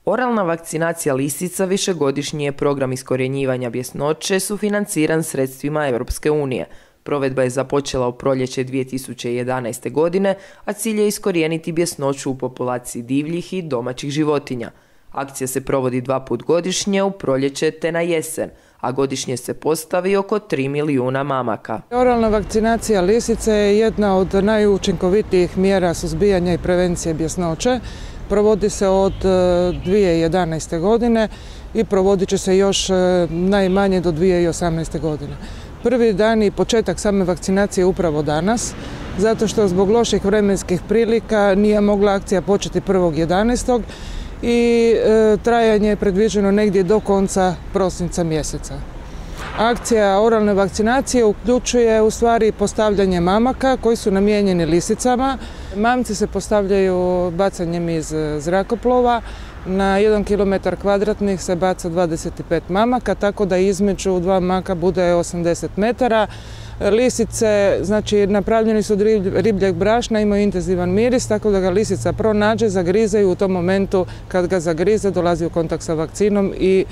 Oralna vakcinacija lisica višegodišnji je program iskorjenjivanja bjesnoće sufinanciran sredstvima Europske unije. Provedba je započela u proljeće 2011. godine, a cilj je iskorijeniti bjesnoću u populaciji divljih i domaćih životinja. Akcija se provodi 2 puta godišnje, u proljeće te na jesen, a godišnje se postavi oko 3 milijuna mamaka. Oralna vakcinacija lisice je jedna od najučinkovitijih mjera suzbijanja i prevencije bjesnoće. Provodi se od 2011. godine i provodit će se još najmanje do 2018. godine. Prvi dan i početak same vakcinacije je upravo danas, zato što zbog loših vremenskih prilika nije mogla akcija početi 1.11. i trajanje je predviđeno negdje do konca prosinca mjeseca. Akcija oralne vakcinacije uključuje u stvari postavljanje mamaka koji su namijenjeni lisicama. Mamci se postavljaju bacanjem iz zrakoplova. Na 1 km2 se baca 25 mamaka, tako da između 2 maka bude 80 metara. Lisice, znači napravljeni su od ribljeg brašna, imaju intenzivan miris, tako da ga lisica pronađe, zagrize i u tom momentu kad ga zagrize dolazi u kontakt sa vakcinom i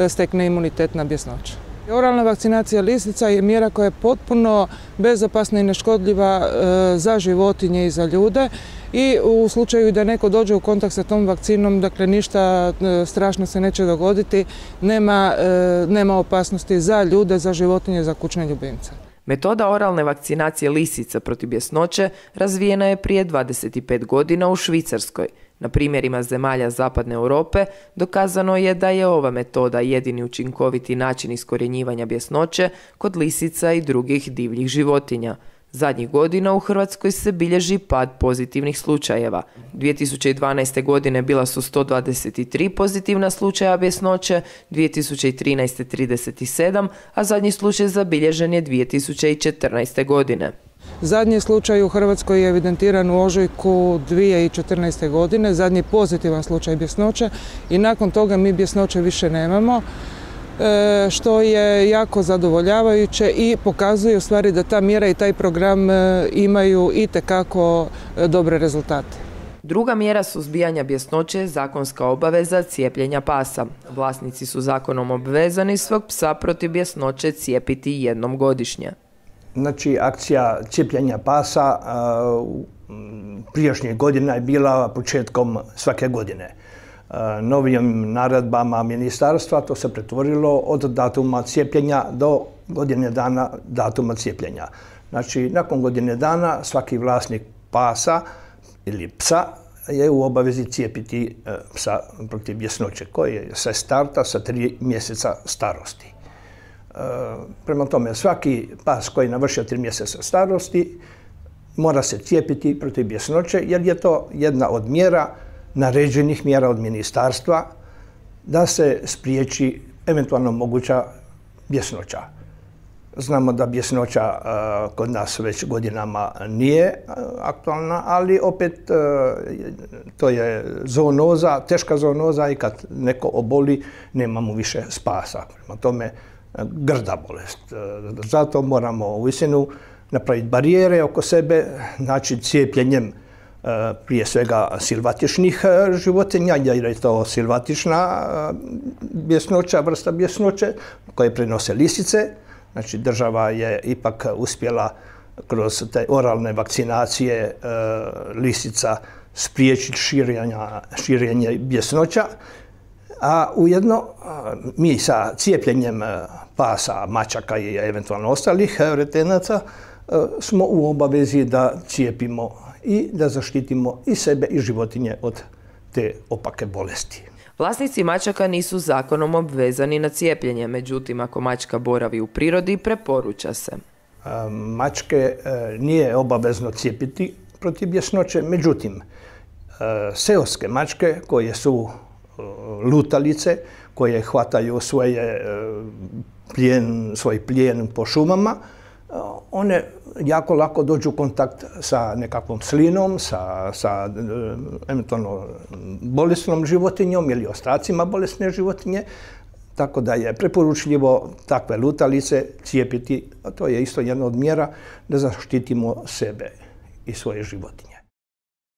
stekne imunitet na bjesnoću. Oralna vakcinacija lisica je mjera koja je potpuno bezopasna i neškodljiva za životinje i za ljude i u slučaju da neko dođe u kontakt sa tom vakcinom, dakle ništa strašno se neće dogoditi, nema opasnosti za ljude, za životinje, za kućne ljubimce. Metoda oralne vakcinacije lisica protiv bjesnoće razvijena je prije 25 godina u Švicarskoj. Na primjerima zemalja Zapadne Europe dokazano je da je ova metoda jedini učinkoviti način iskorjenjivanja bjesnoće kod lisica i drugih divljih životinja. Zadnjih godina u Hrvatskoj se bilježi pad pozitivnih slučajeva. 2012. godine bila su 123 pozitivna slučaja bjesnoće, 2013. 37, a zadnji slučaj zabilježen je 2014. godine. Zadnji slučaj u Hrvatskoj je evidentiran u ožujku 2014. godine, zadnji pozitivan slučaj bjesnoće i nakon toga mi bjesnoće više nemamo, što je jako zadovoljavajuće i pokazuje u stvari da ta mjera i taj program imaju itekako dobre rezultate. Druga mjera suzbijanja bjesnoće je zakonska obaveza cijepljenja pasa. Vlasnici su zakonom obvezani svog psa protiv bjesnoće cijepiti jednom godišnje. Znači, akcija cijepljenja pasa prijašnjih godina je bila početkom svake godine. Novim naredbama ministarstva to se pretvorilo od datuma cijepljenja do godine dana datuma cijepljenja. Znači, nakon godine dana svaki vlasnik pasa ili psa je u obavezi cijepiti psa protiv bjesnoće koji se starta sa 3 mjeseca starosti. Prema tome, svaki pas koji navršio 3 mjeseca starosti mora se cijepiti protiv bjesnoće jer je to jedna od mjera, naređenih mjera od ministarstva da se spriječi eventualno moguća bjesnoća. Znamo da bjesnoća kod nas već godinama nije aktualna, ali opet to je zoonoza, teška zoonoza i kad neko oboli nema mu više spasa. Prema tome, grda bolest. Zato moramo uistinu napraviti barijere oko sebe, znači cijepljenjem prije svega silvatičnih životinja, jer je to silvatična bjesnoća, vrsta bjesnoće koje prenose lisice. Znači država je ipak uspjela kroz te oralne vakcinacije lisica spriječiti širenje bjesnoća, a ujedno mi sa cijepljenjem pasa, mačaka i eventualno ostalih retenaca smo u obavezi da cijepimo i da zaštitimo i sebe i životinje od te opake bolesti. Vlasnici mačaka nisu zakonom obvezani na cijepljenje, međutim ako mačka boravi u prirodi preporuča se. Mačke nije obavezno cijepiti protiv bjesnoće, međutim seoske mačke koje su lutalice, koje hvataju svoj plijen po šumama, one jako lako dođu u kontakt sa nekakvom slinom, sa eventualno bolesnom životinjom ili ostacima bolesne životinje, tako da je preporučljivo takve lutalice cijepiti, a to je isto jedna od mjera da zaštitimo sebe i svoje životinje.